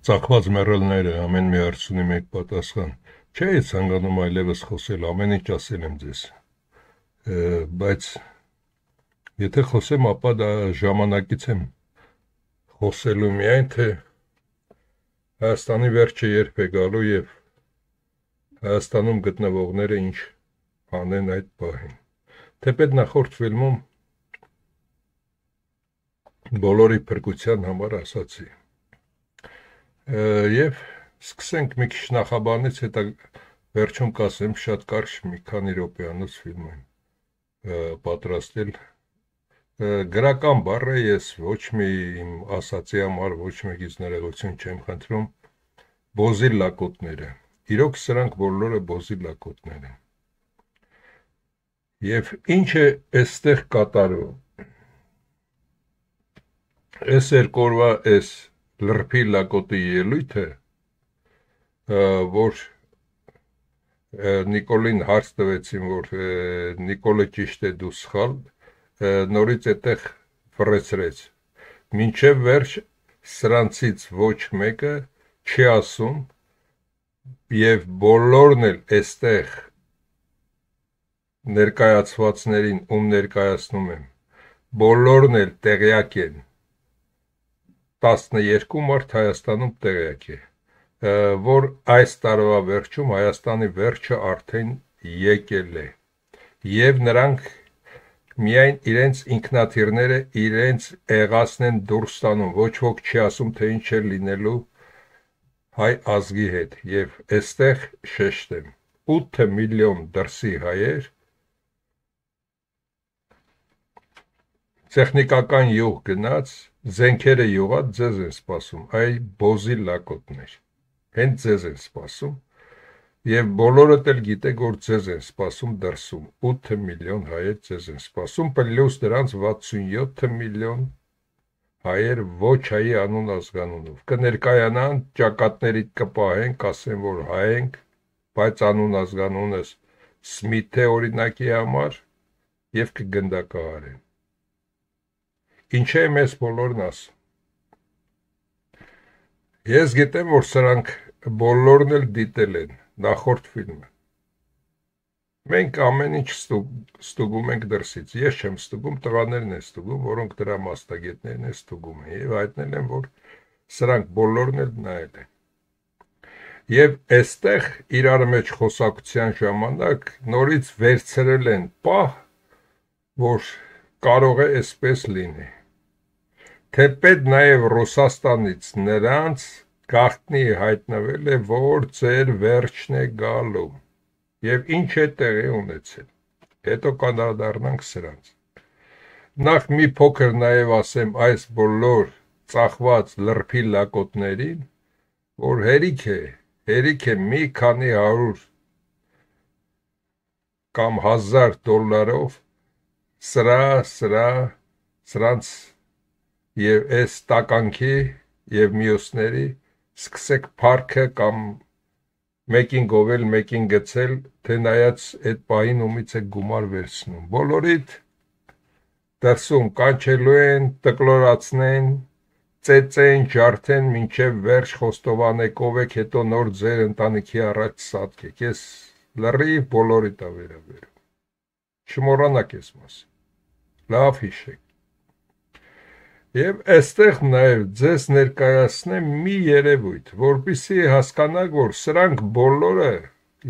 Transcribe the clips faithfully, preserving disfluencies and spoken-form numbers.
Ծակված մեռելները ամեն մի հարցունի մեկ պատասխան։ Չէ, ցանկանում այլևս խոսել, ամեն ինչ ասել եմ ձեզ։ Բայց եթե խոսեմ, ապա դա ժամանակից եմ խոսելու միայն, թե Հայաստանի վերջը երբ է գալու եւ Հայաստանում գտնվողները ինչ անեն այդ պահին։ Թեպետ նախորդ ֆիլմում բոլորի փրկության համար ասացի։ Եվ սկսենք մի քիչ նախաբանից, հետո վերջում կասեմ, շատ կարճ մի քանի րոպեանոց ֆիլմ եմ պատրաստել։ Գրական բառ է, ես ոչ մի իմ ասացի համար ոչ մեկից ներողություն չեմ խնդրում, բոզի լակոտները։ Իրոք սրանք բոլորը բոզի լակոտներ են։ Եվ ինչ է այստեղ կատարվում։ Այս երկու օրվա այս լրփի լակոտի ելույթը, որ Նիկոլին հարց տվեցին, որ Նիկոլը ճիշտ է, դու սխալ, նորից այդտեղ վռեցրեց։ Մինչև վերջ սրանցից ոչ մեկը չի ասում եւ բոլորն էլ այստեղ ներկայացվածներին, ում ներկայացնում եմ, բոլորն էլ տեղյակ են, տասներկու մարդ Հայաստանում տեղյակ է, որ այս տարվա վերջում Հայաստանի վերջը արդեն եկել է, եւ նրանք միայն իրենց ինքնաթիռները իրենց եղածն են դուրս տանում, ոչ ոք չի ասում, թե ինչ է լինելու հայ ազգի հետ, եւ այստեղ շեշտեմ, ութ միլիոն դրսի հայեր տեխնիկական յուղ գնաց, զենքերը յուղած ձեզ են սպասում, այ բոզի լակոտներ, հենց ձեզ են սպասում, եւ բոլորդ էլ գիտեք, որ ձեզ են սպասում դրսում, ութ միլիոն հայեր ձեզ են սպասում, պլյուս դրանց վաթսունյոթ միլիոն հայեր ոչ հայի անուն ազգանունով, կներկայանան, ճակատներիդ կպահեն, կասեն, որ հայ ենք, բայց անուն ազգանունս Սմիթ է օրինակի համար եւ կգնդակահարեն։ Ինչ է մեզ բոլորն ասում։ Ես գիտեմ, որ սրանք բոլորն էլ դիտել են նախորդ ֆիլմը։ Մենք ամեն ինչ ստուգում ենք դրսից։ Ես չեմ ստուգում, տղաներն են ստուգում, որոնք դրա մասնագետներն են ստուգում են եւ հայտնել են, որ սրանք բոլորն էլ նայել են։ Եվ այստեղ իրար մեջ խոսակցության ժամանակ նորից վերցրել են պահ, որ կարող է այսպես լինի։ Թեպետ նաև Ռուսաստանից նրանց գաղտնի հայտնվել է, որ ձեր վերջն է գալու, և ինչ է տեղի ունեցել, հետո կանդրադառնանք սրանց։ Նախ մի փոքր նաև ասեմ այս բոլոր ծախված լրփի լակոտներին, որ հերիք է, հերիք է մի քանի հարյուր կամ հազար դոլարով սրա, սրա, սրանց և այս տականքի և մյուսների սկսեք փառքը կամ մեկին գովել, մեկին գցել, թե նայած այդ պահին ումից է գումար վերցնում։ Բոլորիդ դրսում կանչելու են, տկլորացնեն, ծեծեն, ջարդեն, մինչև վերջ խոստովանեք ով եք, հետո նոր ձեր ընտանիքի առաջ սատկեք։ Ես լրիվ բոլորիդ ա վերաբերում։ Չմոռանաք ես մասին։ Լավ հիշեք։ Եվ այստեղ նաև ձեզ ներկայացնեմ մի երևույթ, որպեսզի հասկանաք, որ սրանք բոլորը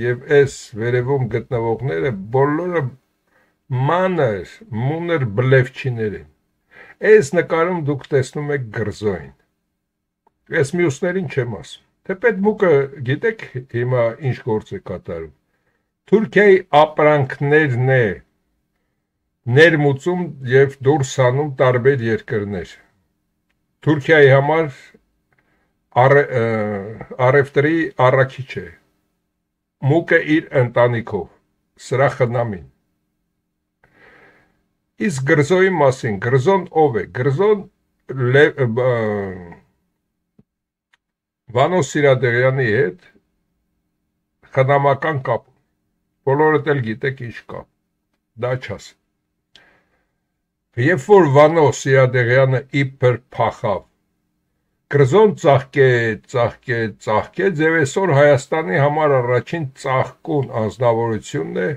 եւ այս վերևում գտնվողները բոլորը մանր, մունր բլեվչիներ են։ Այս նկարում դուք տեսնում եք գրզոյին։ Այս մյուսներին չեմ ասում։ Թեպետ մուկը գիտեք հիմա ինչ գործ է կատարում։ Թուրքիայի ապրանքներն է ներմուծում եւ դուրս անում տարբեր երկրներ։ Թուրքիայի համար առևտրի առաքիչ է։ Մուկը իր ընտանիքով, սրա խնամին։ Իսկ գրզոյի մասին, գրզոն ով է։ Գրզոն Վանո Սիրադեղյանի հետ խնամական կապ։ Բոլորդ էլ գիտեք ինչ կապ։ Դա չասեմ։ Երբ որ Վանո Սիրադեղյանը իբր փախավ Կրզոն ծաղկեց, ծաղկեց, ծաղկեց եւ այսօր Հայաստանի համար առաջին ծաղկուն անձնավորությունն է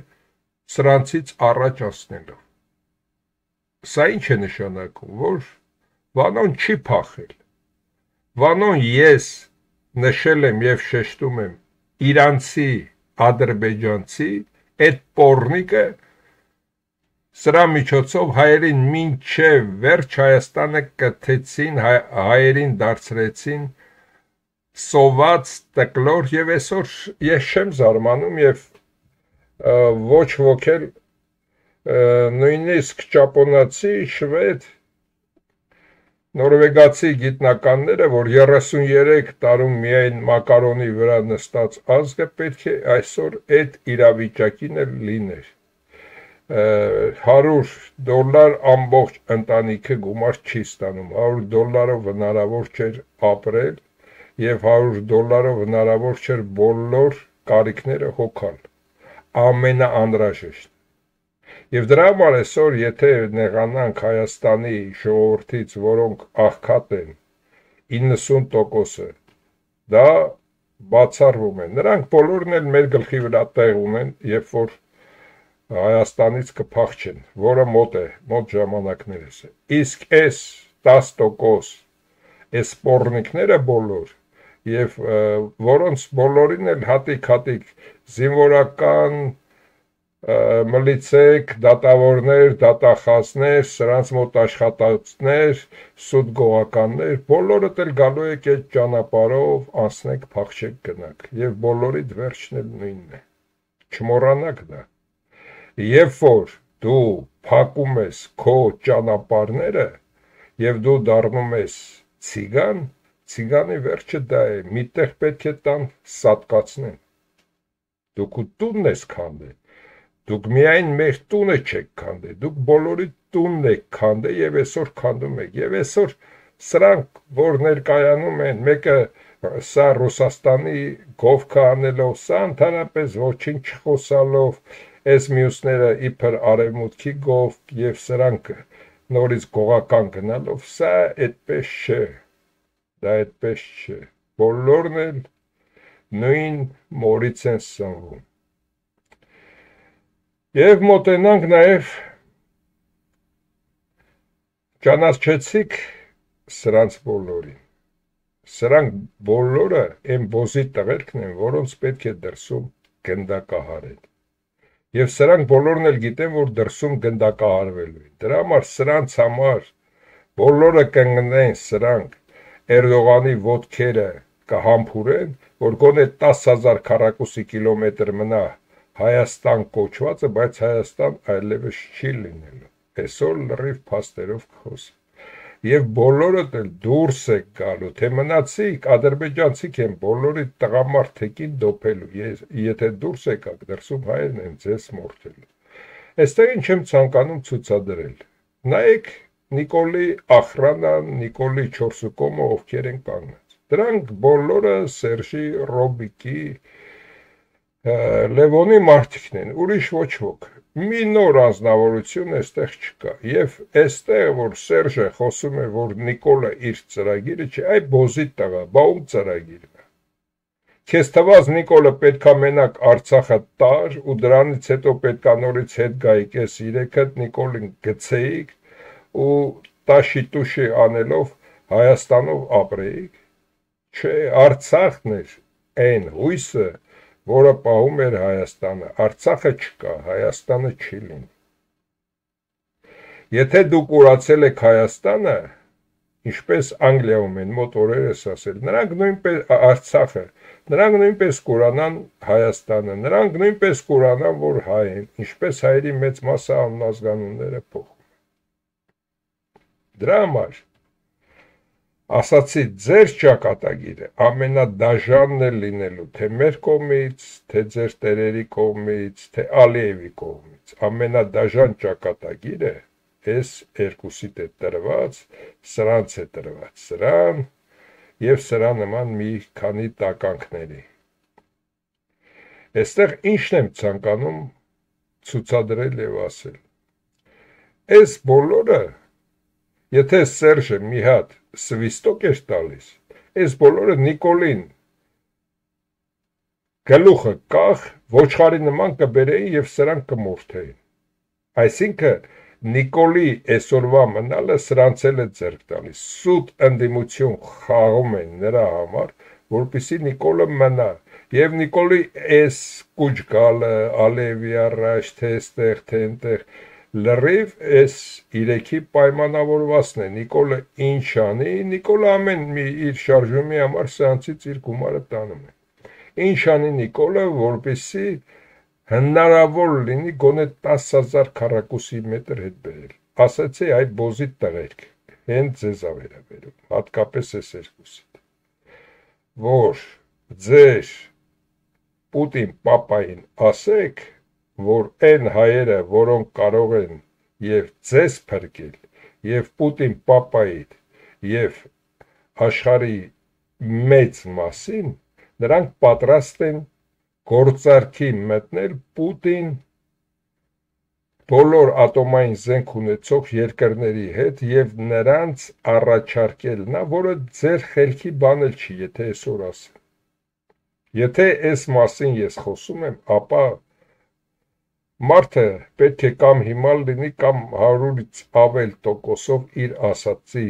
սրանցից առաջ անցնելով։ Սա ինչ է նշանակում, որ Վանոն չի փախել։ Վանոն ես նշել եմ եւ շեշտում եմ իրանցի, ադրբեջանցի, այդ պորնիկը սրա միջոցով հայերին մինչև վերջ Հայաստանը կթեցին, հայերին դարձրեցին սոված տկլոր եւ այսօր ես չեմ զարմանում եւ ոչ ոք էլ նույնիսկ ճապոնացի, շվեդ, նորվեգացի գիտնականները, որ երեսունյերեք տարում միայն մակարոնի վրա նստած ազգը պետք է այսօր այդ իրավիճակին էլ լիներ։ հարյուր դոլար ամբողջ ընտանիքը գումար չի ստանում, հարյուր դոլարով հնարավոր չէր ապրել եւ հարյուր դոլարով հնարավոր չէր բոլոր կարիքները հոգալ, ամենաանհրաժեշտ։ Եվ դրա համար այսօր եթե նեղանանք Հայաստանի ժողովրդից, որոնք աղքատ են, իննսուն տոկոսը, դա բացառվում է։ Նրանք բոլորն էլ մեր գլխի վրա տեղ ունեն, երբ որ Հայաստանից կփախչեն, որը մոտ է, մոտ ժամանակներս է։ Իսկ այս տասը տոկոս այս սպորնիկները բոլոր եւ որոնց բոլորին էլ հատիկ-հատիկ զինվորական մլիցեք, դատավորներ, դատախազներ, սրանց մոտ աշխատածներ, սուտ գողականներ, բոլորդ էլ գալու եք այդ ճանապարհով անցնեք, փախչեք գնաք եւ բոլորիդ վերջն էլ նույնն է։ Չմոռանաք դա։ Երբ որ դու փակում ես քո ճանապարհները եւ դու դառնում ես ցիգան, ցիգանի վերջը դա է, միտեղ պետք է տան սատկացնեն։ Դուք տունն ես քանդել, դուք միայն մեր տունը չեք քանդել, դուք բոլորի տունն եք քանդել եւ այսօր քանդում եք։ Եվ այսօր սրանք, որ ներկայանում են, մեկը սա Ռուսաստանի գովքը անելով, սա ընդհանրապես ոչինչ չխոսալով, այս մյուսները իբր արևմուտքի գով եւ սրանք նորից գողական գնալով, սա այդպես չէ, դա այդպես չէ, բոլորն էլ նույն մորից են սնվում։ Եվ մոտենանք նաեւ ճանաչեցիք սրանց բոլորին, սրանք բոլորը այն բոզի տղերքն են, որոնց պետք է դրսում գնդակահարել։ Եվ սրանք բոլորն էլ գիտեն, որ դրսում գնդակահարվելու են։ Դրա համար սրանց համար բոլորը կընկնեն սրանք Էրդողանի ոտքերը կհամբուրեն, որ գոնե տասը հազար քառակուսի կիլոմետր մնա Հայաստան կոչվածը, բայց Հայաստան այլևս չի լինելու։ Այսօր լրիվ փաստերով կխոսեմ։ Եվ բոլորդ էլ դուրս եք գալու, թե մնացիք, ադրբեջանցիք են բոլորի տղամարդեկին դոփելու, եթե դուրս եկաք, դրսում հայերն են ձեզ մորթելու։ Այստեղ ինչ եմ ցանկանում ցուցադրել։ Նայեք Նիկոլի Ախրանան, Նիկոլի Չորսուկոմը ովքեր են կանգնած։ Դրանք բոլորը Սերժի Ռոբիկի, Լևոնի մարդիկն են, ուրիշ ոչ ոք։ Մի նոր անձնավորություն այստեղ չկա։ Եվ այստեղ որ Սերժը խոսում է, որ Նիկոլը իր ծրագիրը չէ, այ բոզի տղա, բա ում ծրագիրն է։ Քեզ թվաց Նիկոլը պետքա մենակ Արցախը տար ու դրանից հետո պետքա նորից հետ գայիք, այս երեքդ Նիկոլին գցեիք ու տաշի-տուշի անելով Հայաստանով ապրեիք։ Չէ, Արցախն էր այն հույսը, որը պահում էր Հայաստանը, Արցախը չկա, Հայաստանը չի լինի։ Եթե դուք ուրացել եք Հայաստանը, ինչպես Անգլիայում են մոտ օրերս ասել, նրանք նույնպես Արցախը, նրանք նույնպես կուրանան Հայաստանը, նրանք նույնպես կուրանան, որ հայ են, ինչպես հայերի մեծ մասը անազգանունները փոխում են։ Դրա համար ասացի, ձեր ճակատագիրը ամենադաժանն է լինելու, թե մեր կողմից, թե ձեր տերերի կողմից, թե Ալիևի կողմից, ամենադաժան ճակատագիրը այս երկուսիդ է տրված, սրանց է տրված, սրան և սրա նման մի քանի տականքների։ Այստեղ ինչն եմ ցանկանում ցուցադրել և ասել։ Այս բոլորը, եթե Սերժը մի հատ սվիստոկ էր տալիս, այս բոլորը Նիկոլին գլուխը կախ ոչխարի նման կբերեին եւ սրանք կմորթեին։ Այսինքն Նիկոլի այսօրվա մնալը սրանց էլ է ձեռք տալիս, սուտ ընդդիմություն խաղում են նրա համար, որպեսզի Նիկոլը մնա, եւ Նիկոլի այս կուչ գալը, Ալևի առաջ, թե այստեղ, թե այնտեղ, լրիվ այս իրեքի պայմանավորվածն է, Նիկոլը ինչ անի, Նիկոլը ամեն մի իր շարժումի համար սրանցից իր գումարը տանում է, ինչ անի Նիկոլը, որպեսզի հնարավոր լինի գոնե տասը հազար քառակուսի մետր հետ բերել, ասացի այդ բոզի տղերք, հենց ձեզ ավերաբերում, հատկապես այս երկուսիդ, որ ձեր Պուտին պապային ասեք, որ այն հայերը, որոնք կարող են եւ ձեզ փրկել, եւ Պուտին պապայիդ, եւ աշխարհի մեծ մասին, նրանք պատրաստ են գործարքի մտնել Պուտին բոլոր ատոմային զենք ունեցող երկրների հետ եւ նրանց առաջարկել նա, որը ձեր խելքի բան էլ չի, եթե այսօր ասեմ։ Եթե այս մասին ես խոսում եմ, ապա մարդը պետք է կամ հիմար լինի, կամ հարյուրից ավել տոկոսով իր ասածի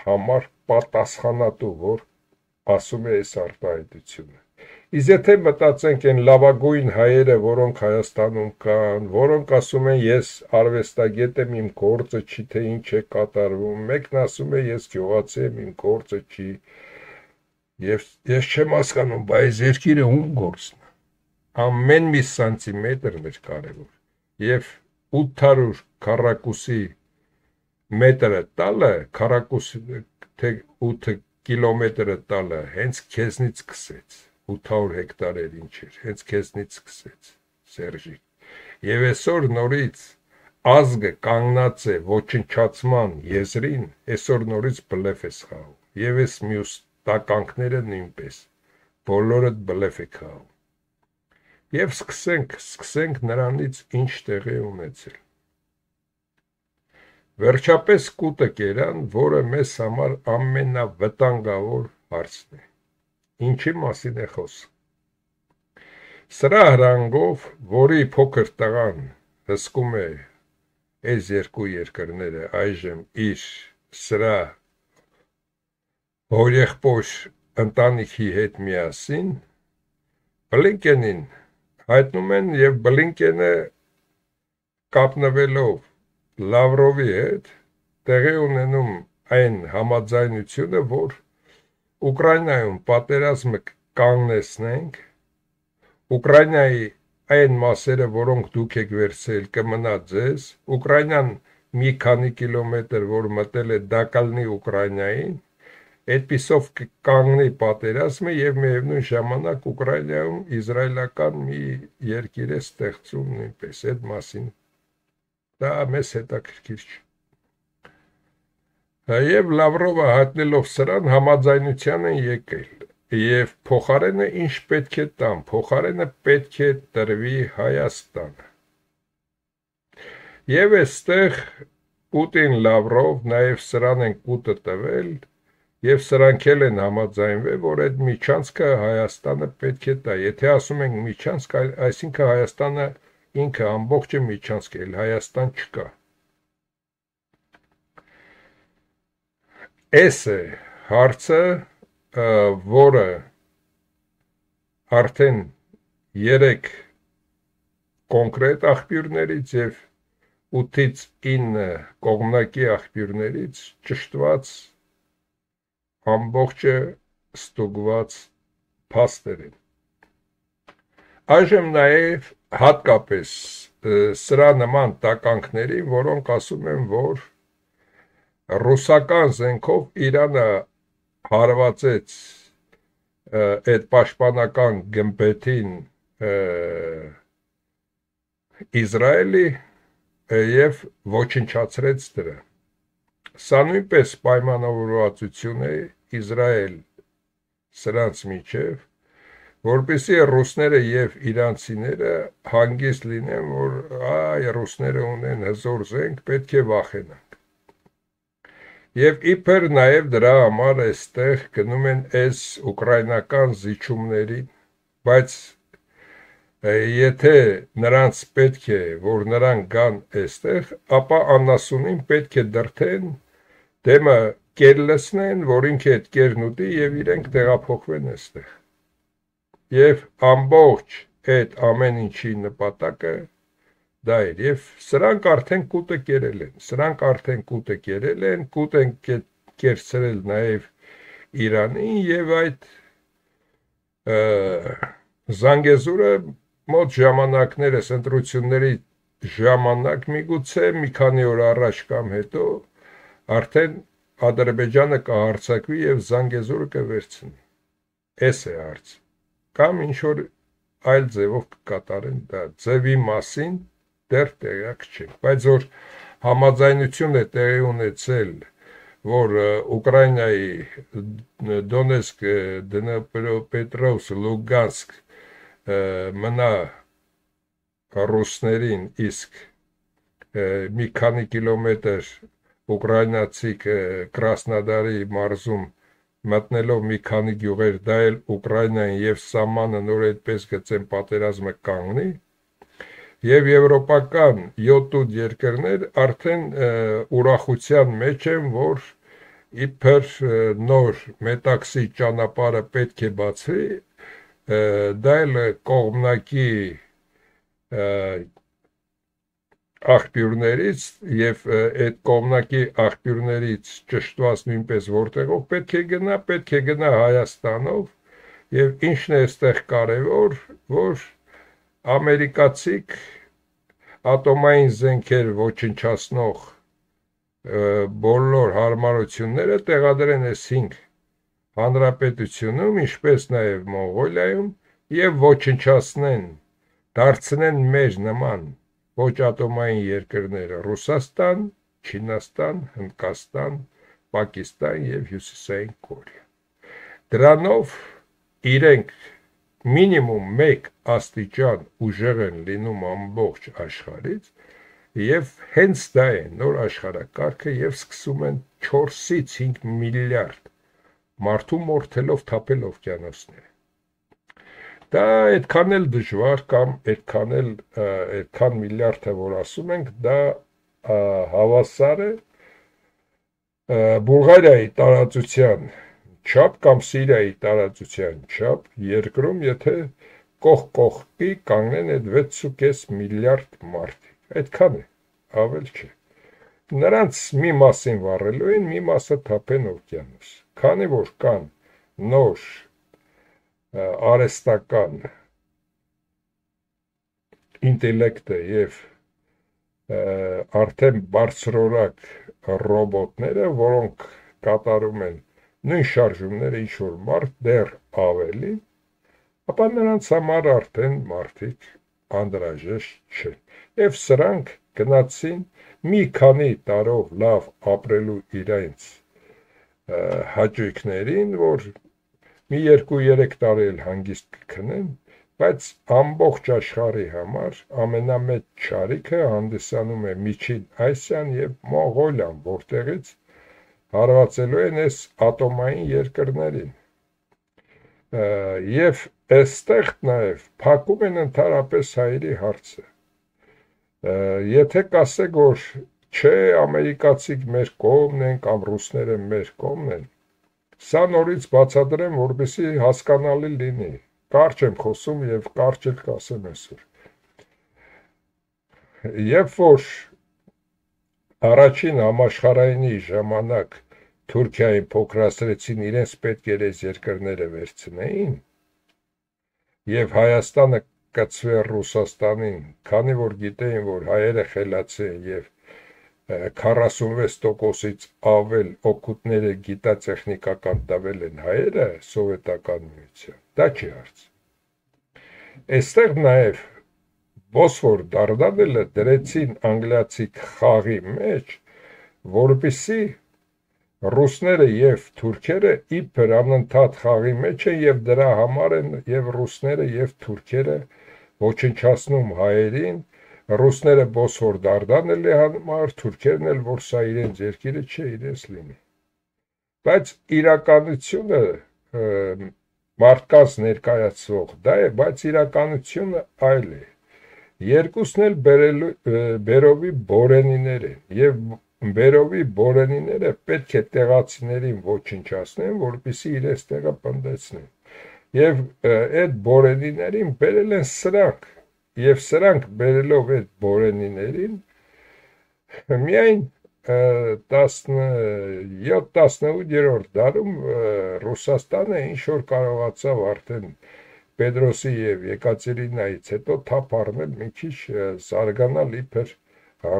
համար պատասխանատու, որ ասում է այս արտահայտությունը։ Իսկ եթե մտածենք այն լավագույն հայերը, որոնք Հայաստանում կան, որոնք ասում են ես արվեստագետ եմ, իմ գործը չի, թե ինչ է կատարվում, մեկն ասում է ես գյուղացի եմ, իմ գործը չի, եւ ես չեմ հասկանում, բայց երկիրը ում գործն է, ամեն մի սանտիմետրն է կարևոր, եւ ութ հարյուր քառակուսի մետրը տալը, քառակուսի, թե ութ կիլոմետրը տալը, հենց քեզնից սկսեց, ութ հարյուր հեկտար էր ինչ էր, հենց քեզնից սկսեց, Սերժիկ, եւ այսօր նորից ազգը կանգնած է ոչնչացման եզրին, այսօր նորից բլեֆ է խաղում, եւ այս մյուս տականքները նույնպես, բոլորը բլեֆ է խաղում, եւ սկսենք, սկսենք նրանից ինչ տեղի ունեցել, վերջապես կուտը կերան, որը մեզ համար ամենավտանգավոր հարցն է, ինչի մասին է խոսքը, սրա հրանգով, որի փոքր տղան հսկում է այս երկու երկրները այժմ իր սրա հորեղբոր ընտանիքի հետ միասին, Բլինկենին հայտնում են եւ Բլինկենը կապնվելով Լավրովի հետ տեղի ունենում այն համաձայնությունը, որ Ուկրաինայում պատերազմը կանգնեցնենք, Ուկրաինայի այն մասերը, որոնք դուք եք վերցրել, կմնա ձեզ, Ուկրաինան մի քանի կիլոմետր, որ մտել է, դա կլինի Ուկրաինային, այդպիսով կկանգնի պատերազմը եւ միևնույն ժամանակ Ուկրաինայում իզրայելական մի երկիր է ստեղծում նույնպես, այդ մասին դա մեզ հետաքրքիր չէ։ Եվ Լավրովը հայտնելով սրան համաձայնության են եկել, եւ փոխարենը ինչ պետք է տան, փոխարենը պետք է տրվի Հայաստանը։ Եվ այստեղ Պուտին Լավրով նաեւ սրան են կուտը տվել, եւ սրանք էլ են համաձայնվել, որ այդ միջանցքը Հայաստանը պետք է տա։ Եթե ասում ենք միջանցք, այսինքն Հայաստանը ինքը ամբողջը միջանցք է, Հայաստան չկա։ Այս է հարցը, որը արդեն երեք կոնկրետ աղբյուրներից եւ ութից ինը կողմնակի աղբյուրներից ճշտված ամբողջը ստուգված փաստեր են։ Այժմ նաեւ հատկապես սրա նման տականքների, որոնք ասում են, որ ռուսական զենքով Իրանը հարվածեց այդ պաշտպանական գմբեթին Իսրայելի եւ ոչնչացրեց դրա։ Սա նույնպես պայմանավորվածություն է Իսրայել սրանց միջև, որպեսզի ռուսները եւ իրանցիները հանգիստ լինեն, որ այ ռուսները ունեն հզոր զենք, պետք է վախենանք։ Եվ իբր նաև դրա համար այստեղ գնում են այս ուկրաինական զիջումներին, բայց եթե նրանց պետք է, որ նրանք գան այստեղ, ապա անասունին պետք է դրթեն, դեմը կեր լցնեն, որ ինքը այդ կերն ուտի եւ իրենք տեղափոխվեն այստեղ։ Եվ ամբողջ այդ ամեն ինչի նպատակը դա էր, եւ սրանք արդեն կուտը կերել են, սրանք արդեն կուտը կերել են, կուտ են կերցրել նաեւ Իրանին եւ այդ Զանգեզուրը մոտ ժամանակներս ընտրությունների ժամանակ միգուցե մի քանի օր առաջ կամ հետո արդեն Ադրբեջանը կհարձակվի եւ Զանգեզուրը կվերցնի։ Էս է հարց։ Կամ ինչ որ այլ ձևով կկատարեն դա։ Ձևի մասին դեռ տեղյակ չենք, բայց որ համաձայնություն է տեղի ունեցել, որ Ուկրաինայի Դոնեցկ, Դնեպրոպետրովսկ, Լուգանսկ մնա ռուսներին, իսկ մի քանի կիլոմետր ուկրաինացի Կրասնոդարի մարզում մտնելով մի քանի գյուղեր, դա էլ Ուկրաինային եւ սահմանը նոր այդպես գծեն պատերազմը կանգնի, եւ եվրոպական յոթ ութ երկրներ արդեն ուրախության մեջ են, որ իբր նոր մետաքսի ճանապարհը պետք է բացվի, դա էլ կողմնակի աղբյուրներից եւ այդ կողմնակի աղբյուրներից ճշտված նույնպես որտեղով պետք է գնա, պետք է գնա Հայաստանով եւ ինչն է այստեղ կարեւոր, որ ամերիկացիք ատոմային զենքեր ոչնչացնող բոլոր հարմարությունները տեղադրեն այս հինգ հանրապետությունում, ինչպես նաև Մոնղոլիայում, եւ ոչնչացնեն, դարձնեն մեր նման ոչ ատոմային երկրները՝ Ռուսաստան, Չինաստան, Հնդկաստան, Պակիստան եւ Հյուսիսային Կորեա։ Դրանով իրենք մինիմում մեկ աստիճան ուժեղ են լինում ամբողջ աշխարհից, եւ հենց դա է նոր աշխարհակարգը եւ սկսում են չորսից հինգ միլիարդ մարդու մորթելով թափել օվկիանոսները։ Դա այդքան էլ դժվար կամ այդքան էլ այդքան միլիարդը որ ասում ենք, դա հավասար է Բուլղարիայի տարածության չափ կամ Սիրիայի տարածության չափ երկրում, եթե կողք կողքի կանգնեն այդ վեց ու կես միլիարդ մարդիկ, այդքան է, ավել չէ։ Նրանց մի մասին վառելու են, մի մասը թափեն օվկիանոս, քանի որ կան նոր արհեստական ինտելեկտը եւ արդեն բարձրորակ ռոբոտները, որոնք կատարում են նույն շարժումները ինչ որ մարդ դեռ ավելի, ապա նրանց համար արդեն մարդիկ անդրաժեշտ չեն։ Եվ սրանք գնացին մի քանի տարով լավ ապրելու իրենց հաճույքներին, որ մի երկու երեք տարի էլ հանգիստ կքնեն, բայց ամբողջ աշխարհի համար ամենամեծ չարիքը հանդիսանում է Միջին Ասիան եւ Մոնղոլիան, որտեղից հարվածելու են այս ատոմային երկրներին։ Եվ այստեղ նաեւ փակում են ընդհանրապես հայերի հարցը։ Եթե կասեք, որ չէ, ամերիկացիք մեր կողմն են կամ ռուսները մեր կողմն են, սա նորից բացատրեմ, որպեսզի հասկանալի լինի։ Կարճ եմ խոսում եւ կարճ էլ կասեմ այսօր։ Երբ որ առաջին համաշխարհայինի ժամանակ Թուրքիային փոքրացրեցին, իրենց պետք էր այս երկրները վերցնեին, եւ Հայաստանը կծվեր Ռուսաստանին, քանի որ գիտեին, որ հայերը խելացի են եւ քառասունվեց տոկոսից ավել օգուտները գիտատեխնիկական տվել են հայերը սովետական միության, դա չի հարց։ Այստեղ նաև Բոսֆոր դարդանելը դրեցին անգլիացի խաղի մեջ, որպեսզի ռուսները եւ թուրքերը իբր անընդհատ խաղի մեջ են եւ դրա համար են եւ ռուսները եւ թուրքերը ոչնչացնում հայերին, ռուսները Բոսֆոր դարդանել համար, թուրքերն էլ, որ սա իրենց երկիրը չէ, իրենց լինի։ Բայց իրականությունը մարդկանց ներկայացվող դա է, բայց իրականությունը այլ է։ Երկուսն էլ Բերովի բորենիներ են, եւ Բերովի բորենիները պետք է տեղացիներին ոչնչացնեն, որպեսզի իրենց տեղը պնդեցնեն։ Եվ այդ բորենիներին բերել են սրանք, եւ սրանք բերելով այդ բորենիներին միայն տասնյոթ տասնութերորդ դարում Ռուսաստանը ինչ որ կարողացավ արդեն Պետրոսի եւ Եկատերինայից հետո թափ առնել մի քիչ զարգանալ իբր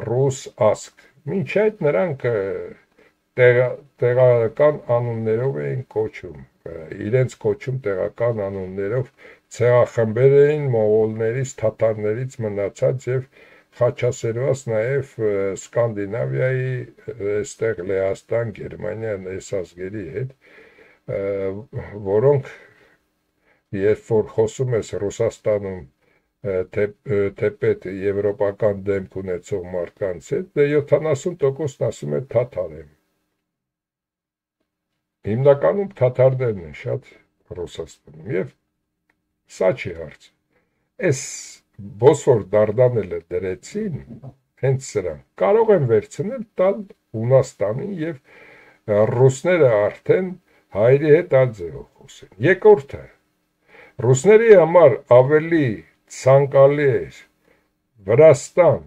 ռուս ազգ։ Մինչ այդ նրանք տեղական անուններով էին կոչում, իրենց կոչում տեղական անուններով ցեղախմբեր էին մողոլներից, թաթարներից մնացած եւ խաչասերված նաև Սկանդինավիայի, այստեղ Լեհաստան, Գերմանիա այս ազգերի հետ, որոնք երբ որ խոսում ես Ռուսաստանում թեպետ եվրոպական դեմք ունեցող մարդկանց հետ, դե յոթանասուն տոկոսն ասում է թաթար եմ։ Հիմնականում թաթարներն են շատ Ռուսաստանում եւ սա չի հարց։ Այս Բոսֆոր դարդանելը դրեցին հենց սրանք, կարող են վերցնել տալ Հունաստանին եւ ռուսները արդեն հայերի հետ այլ ձևով խոսեն։ Երկրորդը, ռուսների համար ավելի ցանկալի էր Վրաստան,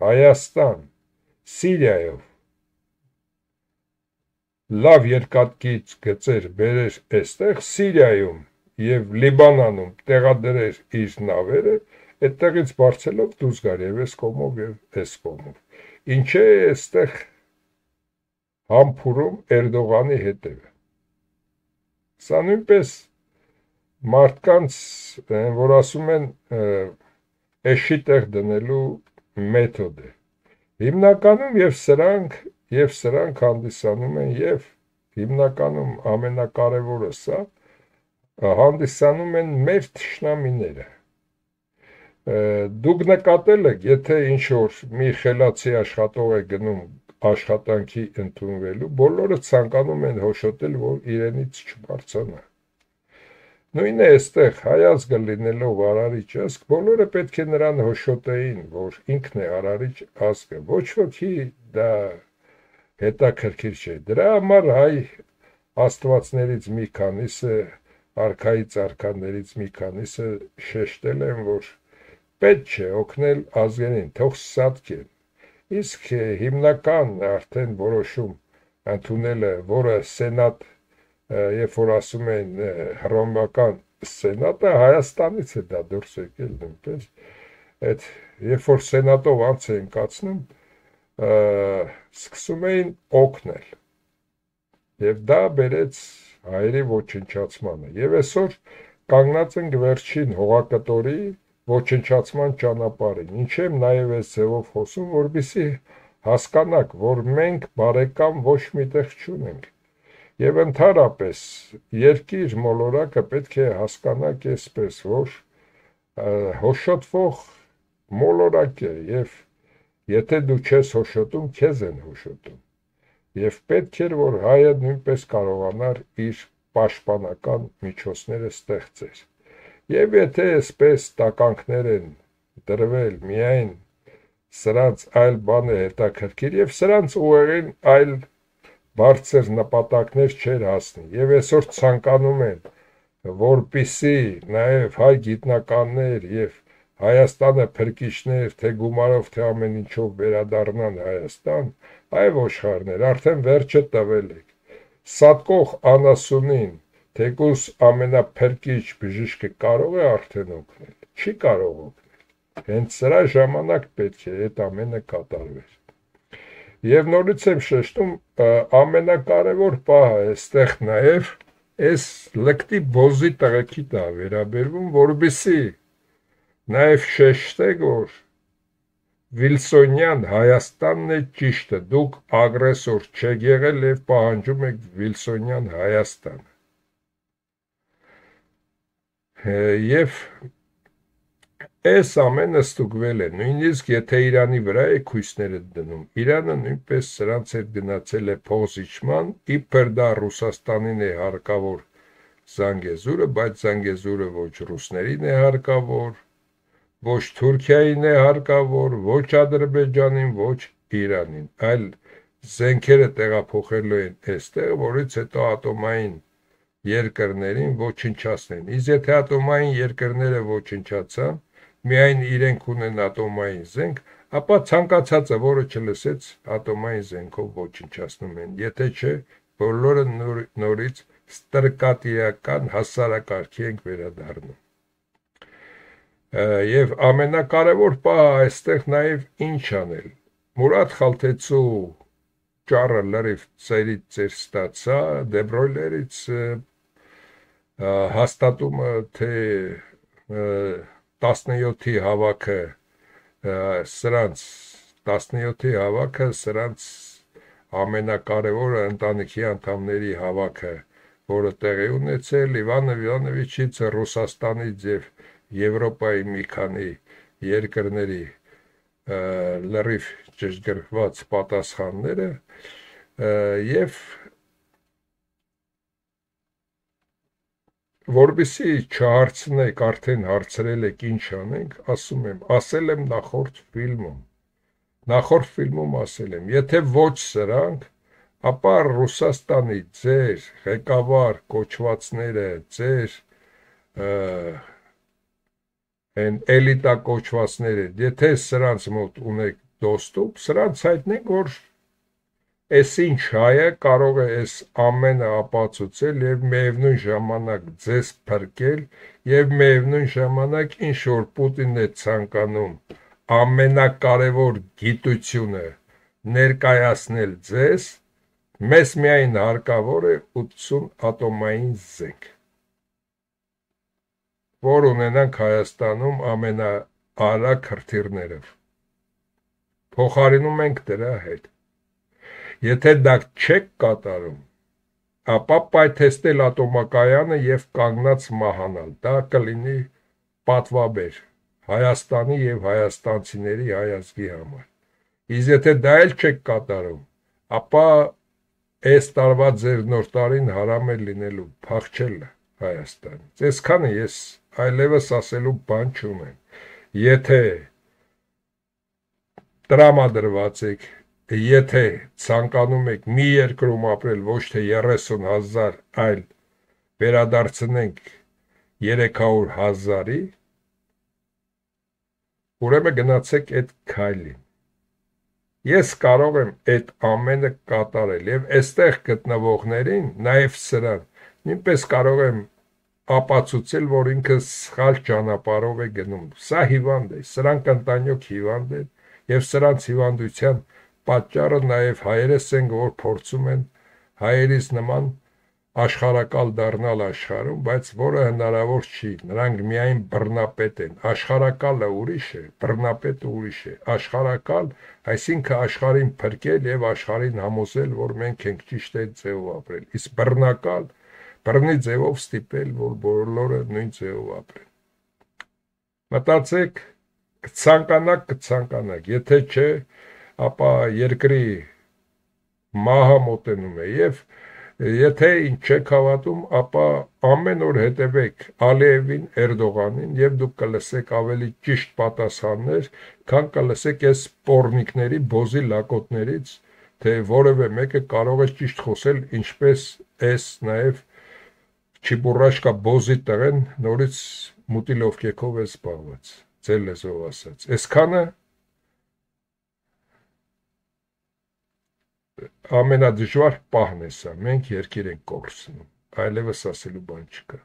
Հայաստան, Սիրիայով լավ երկաթգիծ գծեր բերեր այստեղ, Սիրիայում եւ Լիբանանում տեղադրեր իր նավերը, այդտեղից բարձելով դուրս գար եւ այս կողմով եւ այս կողմով։ Ինչ է այստեղ համբուրում Էրդողանի հետևը։ Սա նույնպես մարդկանց, որ ասում են, էշի տեղ դնելու մեթոդ է։ Հիմնականում եւ սրանք եւ սրանք հանդիսանում են եւ հիմնականում ամենակարևորը սա հանդիսանում են մեր թշնամիները։ Դուք նկատել եք, եթե ինչ-որ մի խելացի աշխատող է գնում աշխատանքի ընդունվելու, բոլորը ցանկանում են հոշոտել, որ իրենից չբարձրանա։ Նույնն է այստեղ հայազգը լինելով արարիչ ազգ, բոլորը պետք է նրան հոշոտեին, որ ինքն է արարիչ ազգը, ոչ ոքի դա հետաքրքիր չէ։ Դրա համար հայ աստվածներից մի քանիսը արքայից արքաներից մի քանիսը շեշտել են, որ պետք չէ օգնել ազգերին, թող սատկեն։ Իսկ հիմնական արդեն որոշում ընդունելը, որը սենատ, երբ որ ասում են հռոմեական սենատը, Հայաստանից է դա դուրս եկել նույնպես, այդ երբ որ սենատով անց էին կացնում, սկսում էին օգնել։ Եվ դա բերեց հայերի ոչնչացմանը։ Եվ այսօր կանգնած ենք վերջին հողակտորի ոչնչացման ճանապարհին։ Ինչ եմ նաև այս ձևով խոսում, որպեսզի հասկանաք, որ մենք բարեկամ ոչ միտեղ չունենք։ Եվ ընդհանրապես երկիր մոլորակը պետք է հասկանաք այսպես, որ հոշոտվող մոլորակ է եւ եթե դու չես հոշոտում, քեզ են հոշոտում։ Եվ պետք էր, որ հայը նույնպես կարողանար իր պաշտպանական միջոցները ստեղծեր։ Եվ եթե այսպես տականքներ են դրվել միայն սրանց այլ բան է հետաքրքիր եւ սրանց ուղեղին այլ բարձր նպատակներ չեր հասնի։ Եվ այսօր ցանկանում են, որպիսի նաեւ հայ գիտնականներ եւ Հայաստանը փրկիչներ, թե գումարով, թե ամեն ինչով վերադառնան Հայաստան, այ ոչխարներ, արդեն վերջը տվել եք։ Սատկող անասունին, թեկուզ ամենափրկիչ բժիշկը կարող է արդեն օգնել, չի կարող օգնել։ Հենց սրա ժամանակ պետք է այդ ամենը կատարվեր։ Եվ նորից եմ շեշտում, ամենակարևոր պահը այստեղ նաև այս լկտի բոզի տղեկի տա վերաբերվում, որպեսզի նաև շեշտեք, որ Վիլսոնյան Հայաստանն է ճիշտը, դուք ագրեսոր չեք եղել եւ պահանջում եք Վիլսոնյան Հայաստանը։ Եվ Այս ամենը ստուգվել է, նույնիսկ եթե Իրանի վրա է քույսները դնում, Իրանը նույնպես սրանց հետ գնացել է փոխզիջման, իբր դա Ռուսաստանին է հարկավոր Զանգեզուրը, բայց Զանգեզուրը ոչ ռուսներին է հարկավոր, ոչ Թուրքիային է հարկավոր, ոչ Ադրբեջանին, ոչ Իրանին, այլ զենքերը տեղափոխելու են այստեղ, որից հետո ատոմային երկրներին ոչնչացնեն։ Իսկ եթե ատոմային երկրները ոչնչացան, միայն իրենք ունեն ատոմային զենք, ապա ցանկացածը, որը չլսեց, ատոմային զենքով ոչնչացնում են, եթե չէ, բոլորը նոր, նորից ստրկատիրական հասարակարգի ենք վերադառնում։ Եվ ամենակարևոր պահը այստեղ նաև ինչ անել։ Մուրադ Խալթեցու ճառը լրիվ ծերից ծեր ստացա, Դեբրոյլերից հաստատումը, թե տասնյոթի հավաքը սրանց տասնյոթի հավաքը սրանց ամենակարևորը ընտանիքի անդամների հավաքը, որը տեղի ունեցել Իվան Իվանովիչից, Ռուսաստանից եւ Եվրոպայի մի քանի երկրների լրիվ ճշգրտված պատասխանները եւ որպեսզի չհարցնեք, արդեն հարցրել եք ինչ անենք, ասում եմ, ասել եմ նախորդ ֆիլմում, նախորդ ֆիլմում ասել եմ, եթե ոչ սրանք, ապա Ռուսաստանի ձեր ղեկավար կոչվածները, ձեր են էլիտա կոչվածները, եթե սրանց մոտ ունեք դոստուկ, սրանց հայտնեք, որ Էս ինչ հայը կարող է այս ամենը ապացուցել եւ միևնույն ժամանակ ձեզ փրկել եւ միևնույն ժամանակ ինչ որ Պուտինն է ցանկանում ամենակարևոր գիտությունը ներկայացնել ձեզ, մեզ միայն հարկավոր է ութսուն ատոմային զենք, որ ունենանք Հայաստանում ամենաարագ հրթիռներով, փոխարինում ենք դրա հետ։ Եթե դա չեք կատարում, ապա պայթեստել ատոմակայանը եւ կանգնած մահանալ, դա կլինի պատվաբեր Հայաստանի եւ հայաստանցիների հայազգի համար։ Իսկ եթե դա էլ չեք կատարում, ապա այս տարվա ձեր նոր տարին հարամ է լինելու փախչել Հայաստանից։ Այսքանը ես այլևս ասելու բան չունեմ։ Եթե տրամադրված եք, եթե ցանկանում եք մի երկրում ապրել ոչ թե երեսուն հազար, այլ վերադարձնենք երեք հարյուր հազարի, ուրեմն գնացեք այդ քայլին։ Ես կարող եմ այդ ամենը կատարել եւ այստեղ գտնվողներին, նաեւ սրան, նույնպես կարող եմ ապացուցել, որ ինքը սխալ ճանապարհով է գնում։ Սա հիվանդ է, սրանք ընտանյոք հիվանդ են եւ սրանց հիվանդության պատճառը նաև հայերս են, որ փորձում են հայերից նման աշխարհակալ դառնալ աշխարհում, բայց որը հնարավոր չի, նրանք միայն բռնապետ են, աշխարհակալը ուրիշ է, բռնապետը ուրիշ է, աշխարհակալ, այսինքն աշխարհին փրկել եւ աշխարհին համոզել, որ մենք ենք ճիշտ այդ ձևով ապրել, իսկ բռնակալ, բռնի ձևով ստիպել, որ բոլորը նույն ձևով ապրեն։ Մտածեք, կցանկանաք, կցանկանաք, եթե չէ, ապա երկրի մահը մոտենում է եւ եթե ինչ չեք հավատում, ապա ամեն օր հետևեք Ալիևին, Էրդողանին եւ դուք կլսեք ավելի ճիշտ պատասխաններ, քան կլսեք այս սպորնիկների բոզի լակոտներից, թե որևէ մեկը կարող է ճիշտ խոսել, ինչպես այս նաեւ Չիբուրաշկա բոզի տղեն նորից մուտիլովկեքով է զբաղված, ձեր լեզվով ասած։ Այսքանը ամենադժվար պահն է սա, մենք երկիր ենք կորցնում, այլևս ասելու բան չկա։